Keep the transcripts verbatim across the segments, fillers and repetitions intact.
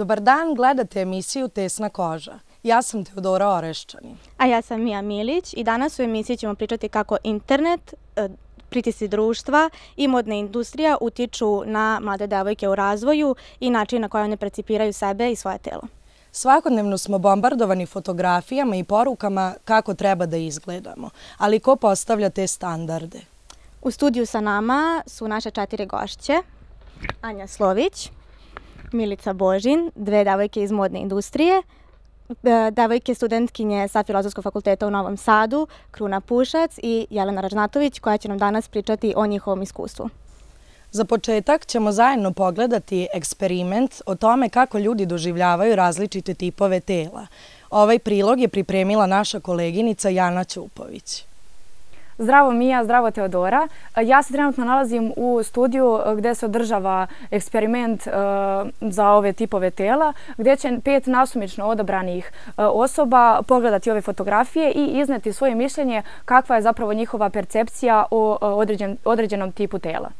Dobar dan, gledate emisiju Tesna koža. Ja sam Teodora Oreščanin. A ja sam Mija Milić i danas u emisiji ćemo pričati kako internet, pritisci društva i modna industrija utiču na mlade devojke u razvoju i način na koji one percipiraju sebe i svoje telo. Svakodnevno smo bombardovani fotografijama i porukama kako treba da izgledamo, ali ko postavlja te standarde? U studiju sa nama su naše četiri gošće. Anja Slović, Milica Božin, dve devojke iz modne industrije, devojke studentkinje sa Filozofskog fakulteta u Novom Sadu, Kruna Pušac i Jelena Ražnatović, koja će nam danas pričati o njihovom iskustvu. Za početak ćemo zajedno pogledati eksperiment o tome kako ljudi doživljavaju različite tipove tela. Ovaj prilog je pripremila naša koleginica Jana Ćupović. Zdravo Mija, zdravo Teodora. Ja se trenutno nalazim u studiju gdje se održava eksperiment za ove tipove tela, gdje će pet nasumično odabranih osoba pogledati ove fotografije i izneti svoje mišljenje kakva je zapravo njihova percepcija o određenom tipu tela.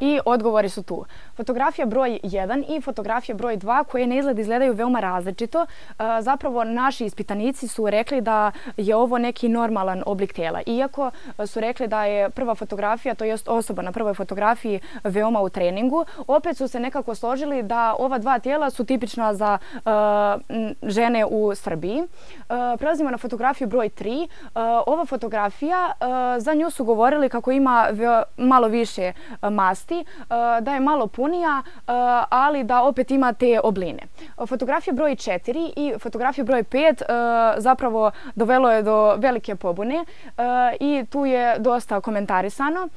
I odgovori su tu. Fotografija broj jedan i fotografija broj dva koje na izgled izgledaju veoma različito. Zapravo naši ispitanici su rekli da je ovo neki normalan oblik tela. Iako su rekli da je prva fotografija, to jest osoba na prvoj fotografiji, veoma u treningu, opet su se nekako složili da ova dva tijela su tipična za žene u Srbiji. Prelazimo na fotografiju broj tri. Ova fotografija, za nju su govorili kako ima malo više masti, da je malo punija, ali da opet ima te obline. Fotografija broj četiri i fotografija broj pet zapravo dovelo je do velike pobune i tu je dosta komentarisano.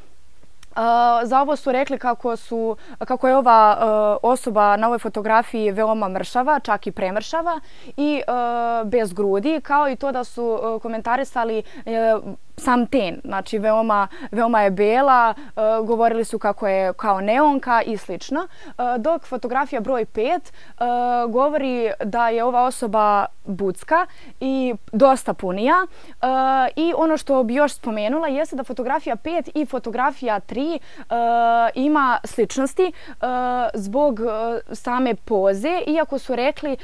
Za ovo su rekli kako, su, kako je ova osoba na ovoj fotografiji veoma mršava, čak i premršava i bez grudi, kao i to da su komentarisali sam ten, znači veoma, veoma je bela, govorili su kako je kao neonka i slično. Dok fotografija broj pet govori da je ova osoba bucka i dosta punija. I ono što bi još spomenula jeste da fotografija pet i fotografija tri ima sličnosti zbog same poze, iako su rekli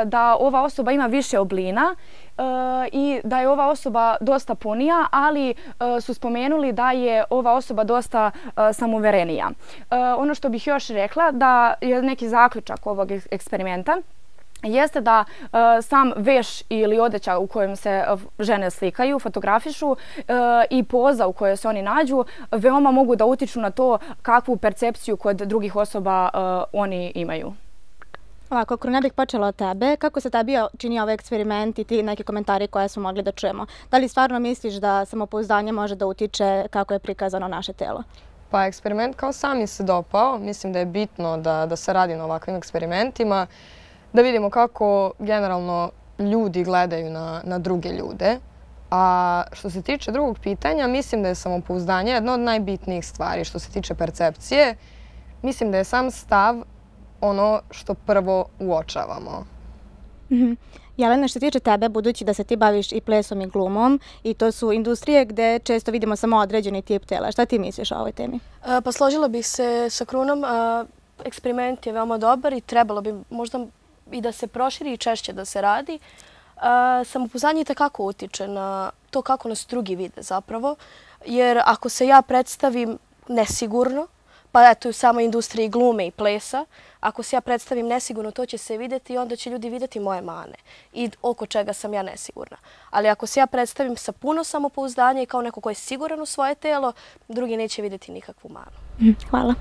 da ova osoba ima više oblina i da je ova osoba dosta punija, ali su spomenuli da je ova osoba dosta samouverenija. Ono što bih još rekla da je neki zaključak ovog eksperimenta jeste da sam veš ili odeća u kojem se žene slikaju, fotografišu i poza u kojoj se oni nađu veoma mogu da utiču na to kakvu percepciju kod drugih osoba oni imaju. Ovako, ako ne bih počela od tebe, kako se tebi čini ovaj eksperiment i ti neki komentari koje smo mogli da čujemo? Da li stvarno misliš da samopouzdanje može da utiče kako je prikazano naše telo? Pa eksperiment kao sam mi se dopao. Mislim da je bitno da, da se radi na ovakvim eksperimentima, da vidimo kako generalno ljudi gledaju na, na druge ljude. A što se tiče drugog pitanja, mislim da je samopouzdanje jedna od najbitnijih stvari. Što se tiče percepcije, mislim da je sam stav ono što prvo uočavamo. Mm-hmm. Jelena, što se tiče tebe, budući da se ti baviš i plesom i glumom, i to su industrije gde često vidimo samo određeni tip tela. Šta ti misliš o ovoj temi? E, pa složila bih se sa Krunom. E, eksperiment je veoma dobar i trebalo bi možda i da se proširi i češće da se radi. E, samopouzdanje itekako utiče na to kako nas drugi vide zapravo. Jer ako se ja predstavim nesigurno, pa eto u samoj industriji glume i plesa, ako se ja predstavim nesigurno, to će se vidjeti i onda će ljudi vidjeti moje mane i oko čega sam ja nesigurna. Ali ako se ja predstavim sa puno samopouzdanja i kao neko ko je siguran u svoje telo, drugi neće vidjeti nikakvu manu. Hvala.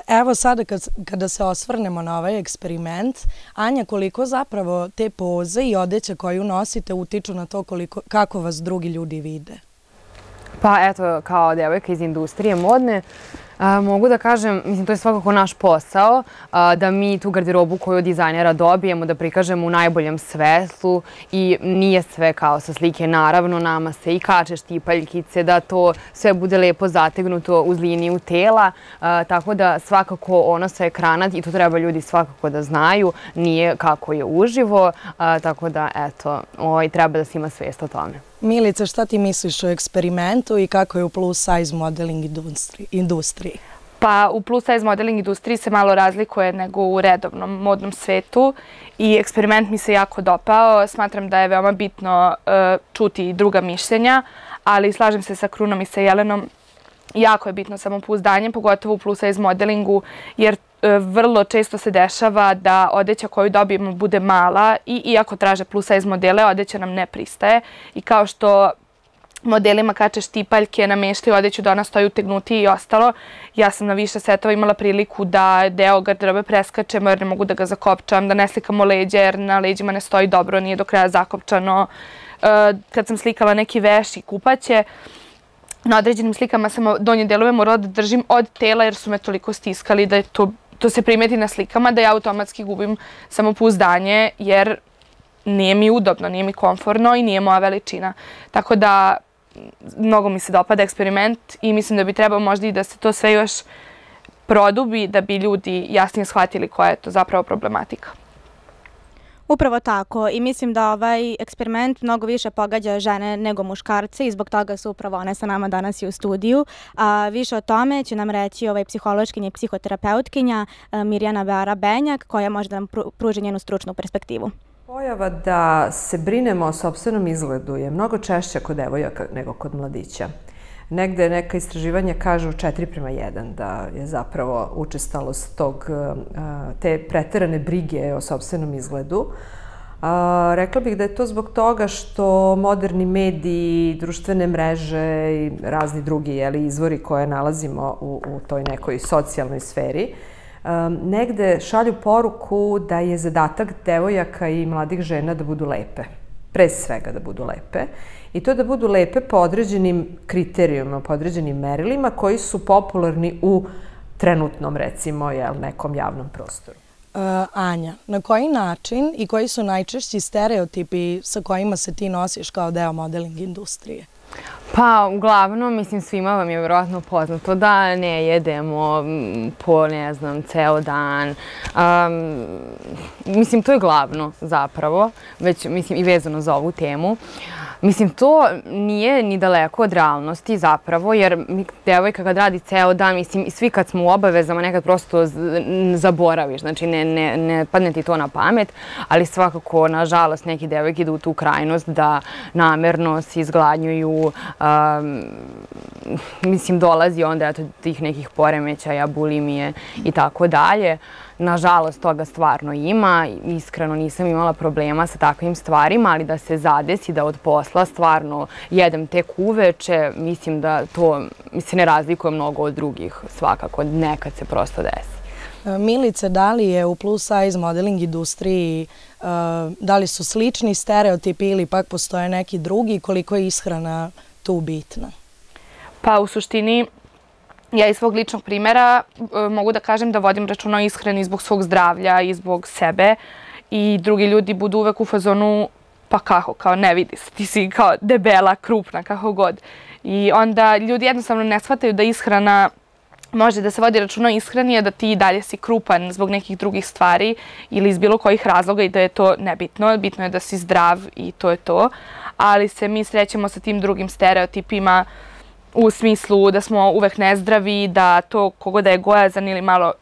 Evo sada kada se osvrnemo na ovaj eksperiment, Anja, koliko zapravo te poze i odeća koju nosite utiču na to kako vas drugi ljudi vide? Pa eto, kao devojka iz industrije modne, mogu da kažem, mislim, to je svakako naš posao, da mi tu garderobu koju od dizajnera dobijemo, da prikažemo u najboljem svetlu i nije sve kao sa slike. Naravno, nama se i kače štipaljkice, da to sve bude lepo zategnuto uz liniju tela, tako da svakako ono sa ekrana, i to treba ljudi svakako da znaju, nije kako je uživo, tako da eto, treba da se ima svest o tome. Milica, šta ti misliš o eksperimentu i kako je u plus size modeling industriji? Pa u plus size modeling industriji se malo razlikuje nego u redovnom modnom svetu i eksperiment mi se jako dopao. Smatram da je veoma bitno čuti druga mišljenja, ali slažem se sa Krunom i sa Jelenom. Jako je bitno samopouzdanje, pogotovo u plus size modelingu, jer vrlo često se dešava da odeća koju dobijemo bude mala i iako traže plus size modele, odeća nam ne pristaje. I kao što modelima kače štipaljke, nameštaju odeću da ona stoji utegnuti i ostalo, ja sam na više setova imala priliku da deo garderobe preskačemo jer ne mogu da ga zakopčam, da ne slikamo leđa jer na leđima ne stoji dobro, nije do kraja zakopčano. Kad sam slikala neki veš i kupaće, na određenim slikama sam donje delove morala da držim od tela jer su me toliko stiskali da je to, to se primeti na slikama da ja automatski gubim samopouzdanje jer nije mi udobno, nije mi komforno i nije moja veličina. Tako da mnogo mi se dopada eksperiment i mislim da bi trebalo možda i da se to sve još produbi da bi ljudi jasnije shvatili koja je to zapravo problematika. Upravo tako i mislim da ovaj eksperiment mnogo više pogađa žene nego muškarce i zbog toga su upravo one sa nama danas i u studiju. A više o tome će nam reći ovaj psihološkinja i psihoterapeutkinja Mirjana Bara-Benjak koja može da nam pruži njenu stručnu perspektivu. Pojava da se brinemo o sopstvenom izgledu je mnogo češća kod devojaka nego kod mladića. Negde neka istraživanja kažu četiri prema jedan da je zapravo učestalost tog, te preterane brige o sopstvenom izgledu. Rekla bih da je to zbog toga što moderni mediji, društvene mreže i razni drugi izvori koje nalazimo u, u toj nekoj socijalnoj sferi negde šalju poruku da je zadatak devojaka i mladih žena da budu lepe. Pre svega da budu lepe. I to da budu lepe po određenim kriterijuma, po određenim merilima koji su popularni u trenutnom, recimo, nekom javnom prostoru. Anja, na koji način i koji su najčešći stereotipi sa kojima se ti nosiš kao deo modeling industrije? Pa, uglavnom, mislim, svima vam je vjerojatno poznato da ne jedemo po, ne znam, ceo dan. Mislim, to je glavno zapravo, već, mislim, i vezano za ovu temu. Mislim, to nije ni daleko od realnosti zapravo, jer devojka kad radi ceo dan, mislim, i svi kad smo u obavezama nekad prosto zaboraviš, znači ne padne ti to na pamet, ali svakako, nažalost, neki devojke idu u tu krajnost da namerno se izgladnjuju, mislim, dolazi onda do tih nekih poremećaja, bulimije i tako dalje. Nažalost, toga stvarno ima. Iskreno nisam imala problema sa takvim stvarima, ali da se zadesi da od posla stvarno jedem tek uveče, mislim da to se ne razlikuje mnogo od drugih svakako. Nekad se prosto desi. Milice, da li je u plus size modeling industriji, da li su slični stereotipi ili pak postoje neki drugi, koliko je ishrana tu bitna? Pa u suštini, ja iz svog ličnog primjera mogu da kažem da vodim računa o ishrani zbog svog zdravlja i zbog sebe i drugi ljudi budu uvek u fazonu pa kako, kao ne vidi se, ti si kao debela, krupna, kako god. I onda ljudi jednostavno ne shvataju da ishrana može da se vodi računa o ishrani, a da ti dalje si krupan zbog nekih drugih stvari ili iz bilo kojih razloga i da je to nebitno. Bitno je da si zdrav i to je to. Ali se mi srećemo sa tim drugim stereotipima u smislu da smo uvek nezdravi, da to kogo da je gojazan ili malo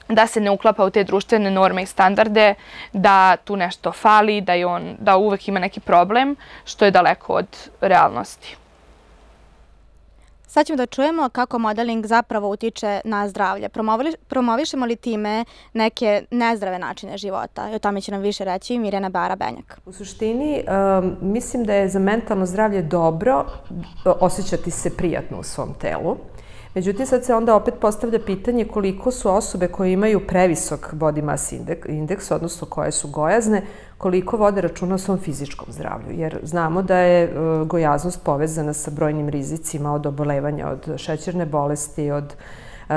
da se ne uklapa u te društvene norme i standarde, da tu nešto fali, da, je on, da uvek ima neki problem, što je daleko od realnosti. Sad ćemo da čujemo kako modeling zapravo utiče na zdravlje. Promovišemo li time neke nezdrave načine života? I o tome će nam više reći Mirjana Bara-Benjak. U suštini, mislim da je za mentalno zdravlje dobro osjećati se prijatno u svom telu. Međutim, sad se onda opet postavlja pitanje koliko su osobe koje imaju previsok body mass indeks, odnosno koje su gojazne, koliko vode računa o svom fizičkom zdravlju. Jer znamo da je gojaznost povezana sa brojnim rizicima od obolevanja, od šećerne bolesti, od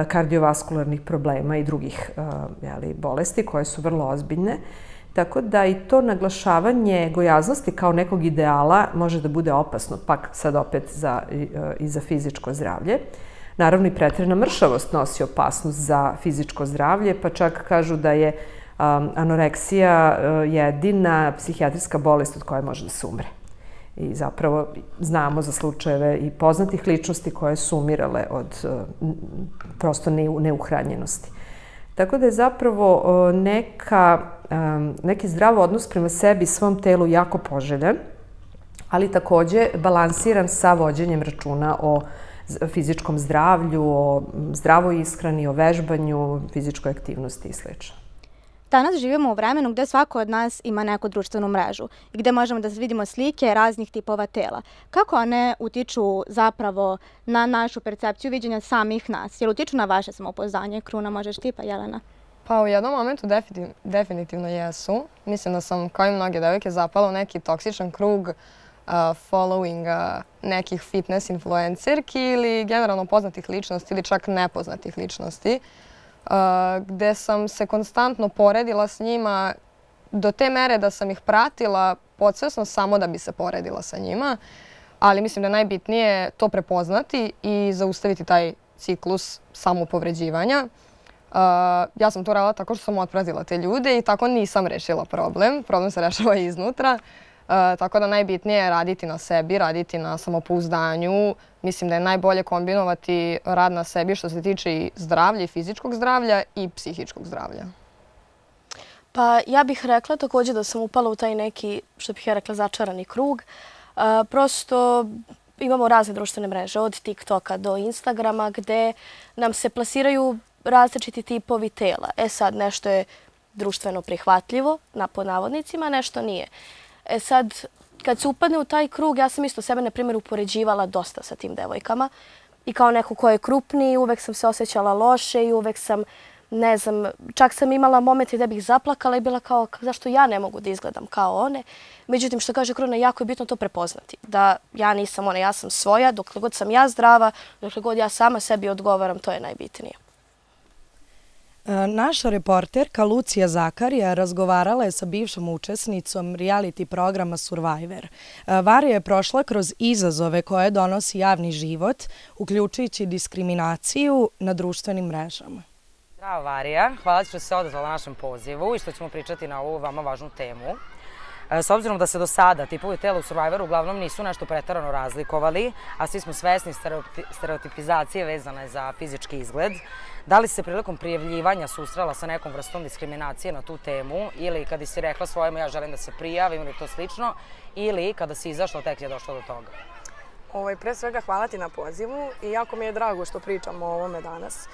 kardiovaskularnih problema i drugih bolesti koje su vrlo ozbiljne. Tako da i to naglašavanje gojaznosti kao nekog ideala može da bude opasno, pak sad opet i za fizičko zdravlje. Naravno i preterana mršavost nosi opasnost za fizičko zdravlje, pa čak kažu da je anoreksija jedina psihijatrijska bolest od koje može da se umre. I zapravo znamo za slučajeve i poznatih ličnosti koje su umirale od prosto neuhranjenosti. Tako da je zapravo neki zdrav odnos prema sebi i svom telu jako poželjan, ali takođe balansiran sa vođenjem računa o fizičkom zdravlju, o zdravoj ishrani, o vežbanju, fizičkoj aktivnosti i sl. Danas živimo u vremenu gde svako od nas ima neku društvenu mrežu i gde možemo da vidimo slike raznih tipova tela. Kako one utiču zapravo na našu percepciju viđenja samih nas? Jel utiču na vaše samopouzdanje? Kruna, možeš ti pa Jelena? Pa u jednom momentu definitivno jesu. Mislim da sam, kao i mnoge devojke, zapala u neki toksičan krug followinga nekih fitness influencerki ili generalno poznatih ličnosti ili čak nepoznatih ličnosti, gde sam se konstantno poredila s njima do te mere da sam ih pratila podsvesno samo da bi se poredila sa njima. Ali mislim da je najbitnije to prepoznati i zaustaviti taj ciklus samopovređivanja. Ja sam to radila tako što sam otpratila te ljude i tako nisam rešila problem. Problem se rešava iznutra. Tako da najbitnije je raditi na sebi, raditi na samopouzdanju. Mislim da je najbolje kombinovati rad na sebi što se tiče i zdravlja, i fizičkog zdravlja i psihičkog zdravlja. Pa ja bih rekla također da sam upala u taj neki, što bih ja rekla, začarani krug. Prosto imamo razne društvene mreže, od TikToka do Instagrama, gde nam se plasiraju različiti tipovi tela. E sad, nešto je društveno prihvatljivo, pod navodnicima, nešto nije. E sad, kad se upadne u taj krug, ja sam isto sebe, na primjer, upoređivala dosta sa tim devojkama. I kao neko ko je krupniji, uvek sam se osjećala loše i uvek sam, ne znam, čak sam imala momente gde bih zaplakala i bila kao, zašto ja ne mogu da izgledam kao one. Međutim, što kaže Kruna, jako je bitno to prepoznati. Da ja nisam ona, ja sam svoja, dokle god sam ja zdrava, dokle god ja sama sebi odgovaram, to je najbitnije. Naša reporterka Lucija Zakarija razgovarala je sa bivšom učesnicom reality programa Survivor. Varija je prošla kroz izazove koje donosi javni život, uključujući diskriminaciju na društvenim mrežama. Zdravo Varija, hvala što se odazvala našem pozivu i što ćemo pričati na ovu vama važnu temu. S obzirom da se do sada tipovi tela u Survivoru uglavnom nisu nešto preterano razlikovali, a svi smo svesni stereotipizacije vezane za fizički izgled, da li si se prilikom prijavljivanja susrela sa nekom vrstom diskriminacije na tu temu ili kada si rekla svojemu ja želim da se prijavim ili to slično, ili kada si izašla tek je došlo do toga? Pre svega hvala ti na pozivu i jako mi je drago što pričamo o ovome danas.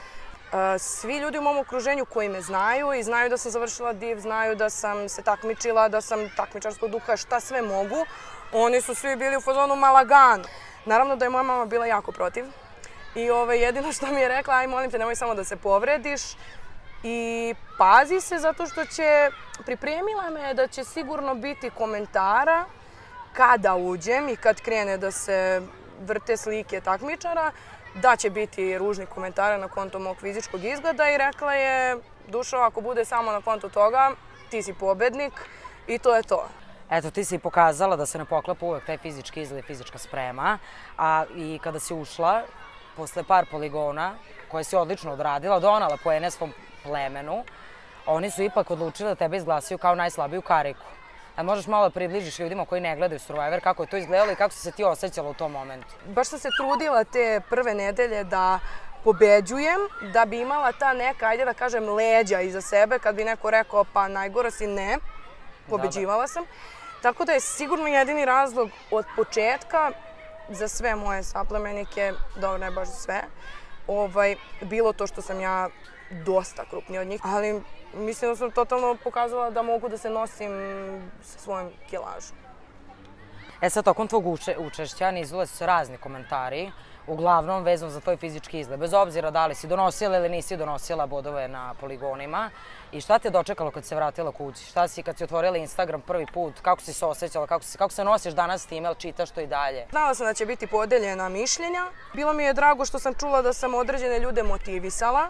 Svi ljudi u mom okruženju koji me znaju i znaju da sam završila div, znaju da sam se takmičila, da sam takmičarskog duha, šta sve mogu, oni su svi bili u fazonu ma lagano. Naravno da je moja mama bila jako protiv i jedino što mi je rekla, aj molim te nemoj samo da se povrediš i pazi se zato što će, pripremila me da će sigurno biti komentara kada uđem i kad krene da se vrte slike takmičara, da će biti ružni komentara na konto mog fizičkog izgleda i rekla je, Dušo, ako bude samo na konto toga, ti si pobednik i to je to. Eto, ti si pokazala da se ne poklapa uvek taj fizički izgled i fizička sprema, a i kada si ušla, posle par poligona, koje si odlično odradila, donala poene svom plemenu, oni su ipak odlučili da tebe izglasaju kao najslabiju kariku. A možeš malo približiš ljudima koji ne gledaju Survivor, kako je to izgledalo i kako si se ti osjećala u tom momentu? Baš sam se trudila te prve nedelje da pobeđujem, da bi imala ta neka, ajde da kažem, leđa iza sebe, kad bi neko rekao pa najgora si, ne, pobeđivala sam. Tako da je sigurno jedini razlog od početka za sve moje saplemenike, dobro ne baš za sve, bilo to što sam ja dosta krupnija od njih, ali mislim da sam totalno pokazala da mogu da se nosim sa svojom kilažom. E sad, tokom tvog učešća nizule su se razni komentari, uglavnom vezano za tvoj fizički izgled, bez obzira da li si donosila ili nisi donosila bodove na poligonima. I šta te je dočekalo kad se vratila kući? Šta si kad si otvorila Instagram prvi put? Kako si se osjećala? Kako, si, kako se nosiš danas s time? Ali čitaš to i dalje? Znala sam da će biti podeljena mišljenja. Bilo mi je drago što sam čula da sam određene ljude motivisala.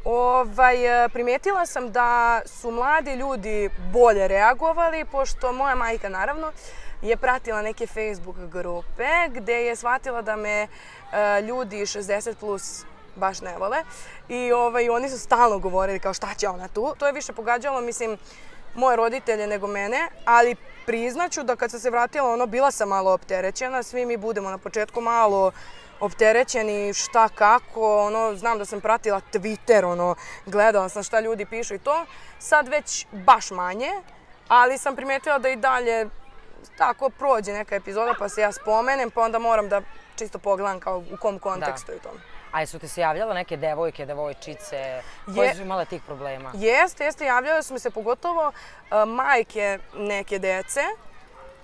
Ovaj, primetila sam da su mladi ljudi bolje reagovali, pošto moja majka, naravno, je pratila neke Facebook grupe gde je shvatila da me e, ljudi šezdeset plus baš ne vole. I ovaj, oni su stalno govorili kao šta će ona tu. To je više pogađalo, mislim, moje roditelje nego mene, ali priznaću da kad sam se vratila, ono, bila sam malo opterećena. Svi mi budemo na početku malo opterećeni, šta kako, ono, znam da sam pratila Twitter, ono, gledala sam šta ljudi pišu i to. Sad već baš manje, ali sam primetila da i dalje tako prođe neka epizoda pa se ja spomenem, pa onda moram da čisto pogledam kao u kom kontekstu i to. A jesu ti se javljala neke devojke, devojčice koje su imale tih problema? Jeste, jeste, javljale su mi se pogotovo majke neke dece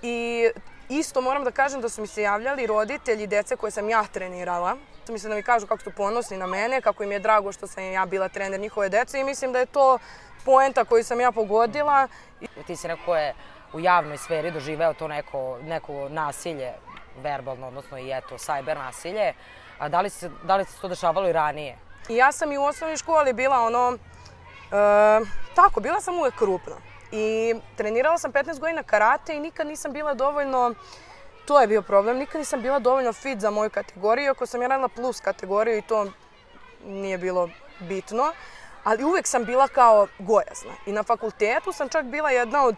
i isto moram da kažem da su mi se javljali roditelji dece koje sam ja trenirala. Mislim da mi kažu kako su ponosni na mene, kako im je drago što sam ja bila trener njihove dece i mislim da je to poenta koju sam ja pogodila. Ti si neko ko je u javnoj sferi doživeo to neko, neko nasilje, verbalno, odnosno i eto, sajber nasilje. A da li se, da li se to dešavalo i ranije? I ja sam i u osnovnoj školi bila ono, e, tako, bila sam uvek krupna. I trenirala sam petnaest godina karate i nikad nisam bila dovoljno, to je bio problem, nikad nisam bila dovoljno fit za moju kategoriju, ako sam ja radila plus kategoriju i to nije bilo bitno. Ali uvek sam bila kao gojazna. I na fakultetu sam čak bila jedna od,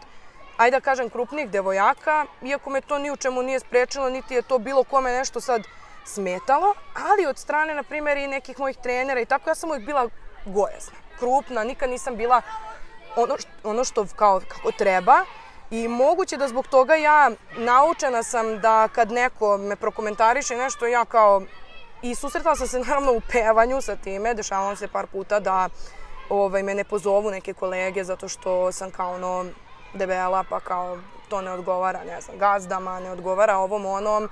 ajde da kažem, krupnijih devojaka, iako me to ni u čemu nije sprečilo, niti je to bilo kome nešto sad smetalo, ali od strane, na primjer, i nekih mojih trenera i tako, ja sam uvijek bila gojazna, krupna, nikad nisam bila ono što, ono što kao, kako treba i moguće da zbog toga ja naučena sam da kad neko me prokomentariše nešto, ja kao, i susretala sam se naravno u pevanju sa time, dešavalo se par puta da ovaj, me ne pozovu neke kolege zato što sam kao ono debela, pa kao to ne odgovara, ne znam, gazdama, ne odgovara ovom onom,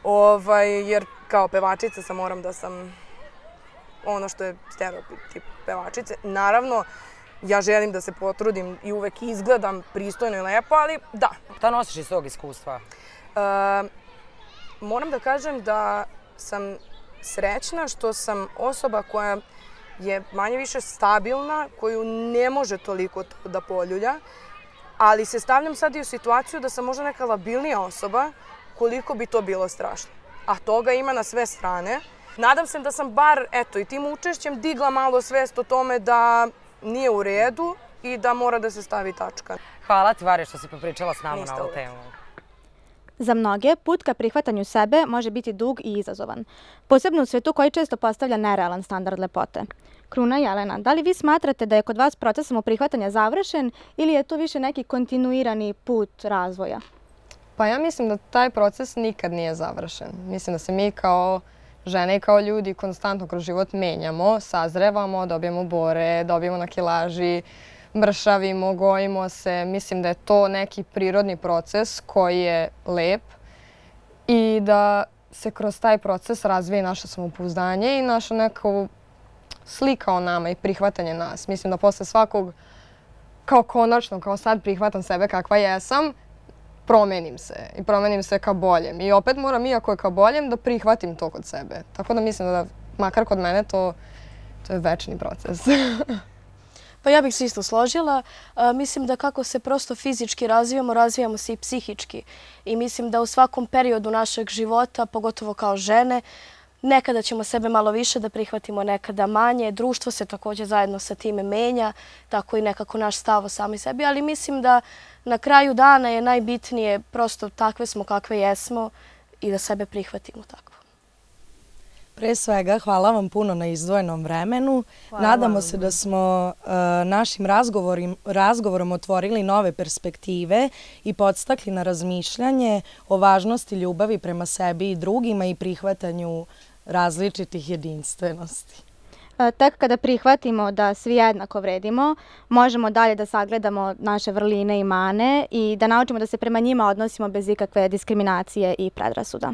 ovaj, jer kao pevačica sam moram da sam ono što je stereotip pevačice. Naravno, ja želim da se potrudim i uvek izgledam pristojno i lepo, ali da. Šta nosiš iz tog iskustva? E, moram da kažem da sam srećna što sam osoba koja je manje više stabilna, koju ne može toliko da poljulja, ali se stavljam sad i u situaciju da sam možda neka labilnija osoba, koliko bi to bilo strašno. A toga ima na sve strane. Nadam se da sam bar, eto, i tim učešćem digla malo svest o tome da nije u redu i da mora da se stavi tačka. Hvala ti, Varja, što si popričala s nama na ovu temu. Za mnoge, put ka prihvatanju sebe može biti dug i izazovan. Posebno u svetu koji često postavlja nerealan standard lepote. Kruna Jelena, da li vi smatrate da je kod vas proces samoprihvatanja završen ili je to više neki kontinuirani put razvoja? Pa ja mislim da taj proces nikad nije završen. Mislim da se mi kao žene i kao ljudi konstantno kroz život menjamo, sazrevamo, dobijemo bore, dobijemo na kilaži, mršavimo, gojimo se. Mislim da je to neki prirodni proces koji je lep i da se kroz taj proces razvije naše samopouzdanje i naša neka slika o nama i prihvatanje nas. Mislim da posle svakog, kao konačno, kao sad prihvatam sebe kakva jesam, promenim se i promenim se ka boljem. I opet moram, iako je ka boljem, da prihvatim to kod sebe. Tako da mislim da, makar kod mene, to, to je večni proces. Pa ja bih se isto složila. Mislim da kako se prosto fizički razvijamo, razvijamo se i psihički. I mislim da u svakom periodu našeg života, pogotovo kao žene, nekada ćemo sebe malo više da prihvatimo, nekada manje. Društvo se također zajedno sa time menja, tako i nekako naš stav o sami sebi. Ali mislim da na kraju dana je najbitnije prosto takve smo kakve jesmo i da sebe prihvatimo tako. Pre svega, hvala vam puno na izdvojenom vremenu. Nadamo se da smo našim razgovorom otvorili nove perspektive i podstakli na razmišljanje o važnosti ljubavi prema sebi i drugima i prihvatanju različitih jedinstvenosti. Tek kada prihvatimo da svi jednako vredimo, možemo dalje da sagledamo naše vrline i mane i da naučimo da se prema njima odnosimo bez ikakve diskriminacije i predrasuda.